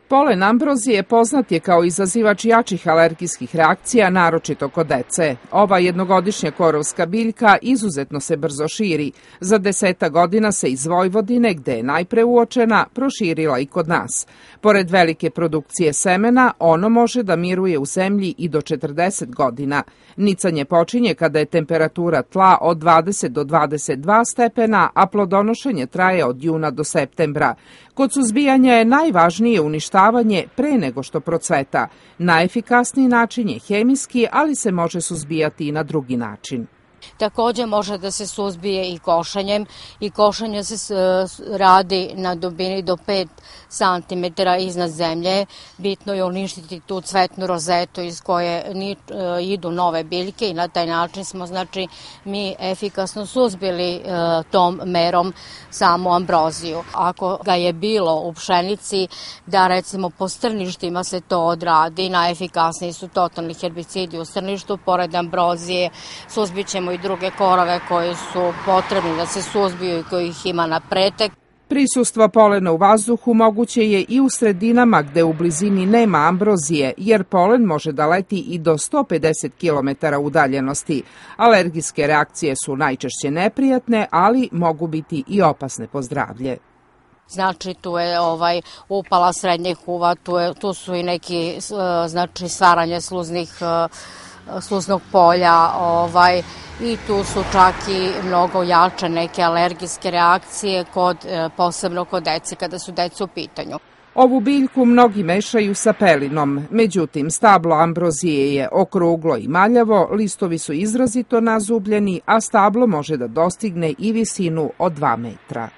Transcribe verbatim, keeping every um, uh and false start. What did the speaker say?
Polen ambrozije poznat je kao izazivač jačih alergijskih reakcija, naročito kod dece. Ova jednogodišnja korovska biljka izuzetno se brzo širi. Za deseta godina se iz Vojvodine, gde je najpre uočena, proširila i kod nas. Pored velike produkcije semena, ono može da miruje u zemlji i do četrdeset godina. Nicanje počinje kada je temperatura tla od dvadeset do dvadeset dva stepena, a plodonošenje traje od juna do septembra. Kod suzbijanja je najvažnije uništavanje pre nego što procveta. Najefikasniji način je hemijski, ali se može suzbijati i na drugi način. Takođe može da se suzbije i košenjem i košenje se radi na dubini do pet santimetara iznad zemlje. Bitno je uništiti tu cvetnu rozetu iz koje idu nove biljke i na taj način smo znači mi efikasno suzbili tom merom samu ambroziju. Ako ga je bilo u pšenici, da recimo po strništima se to odradi, najefikasniji su totalni herbicidi u strništu, pored ambrozije suzbićemo i druge korove koji su potrebni da se suzbiju i kojih ima na pretek. Prisustvo polena u vazduhu moguće je i u sredinama gde u blizini nema ambrozije, jer polen može da leti i do sto pedeset kilometara udaljenosti. Alergijske reakcije su najčešće neprijatne, ali mogu biti i opasne po zdravlje. Znači tu je ovaj upala srednjih uva, tu, je, tu su i neki znači stvaranje sluznih sluznog polja, ovaj, i tu su čak i mnogo jače neke alergijske reakcije, kod, posebno kod dece, kada su deca u pitanju. Ovu biljku mnogi mešaju sa pelinom, međutim stablo ambrozije je okruglo i maljavo, listovi su izrazito nazubljeni, a stablo može da dostigne i visinu od dva metra.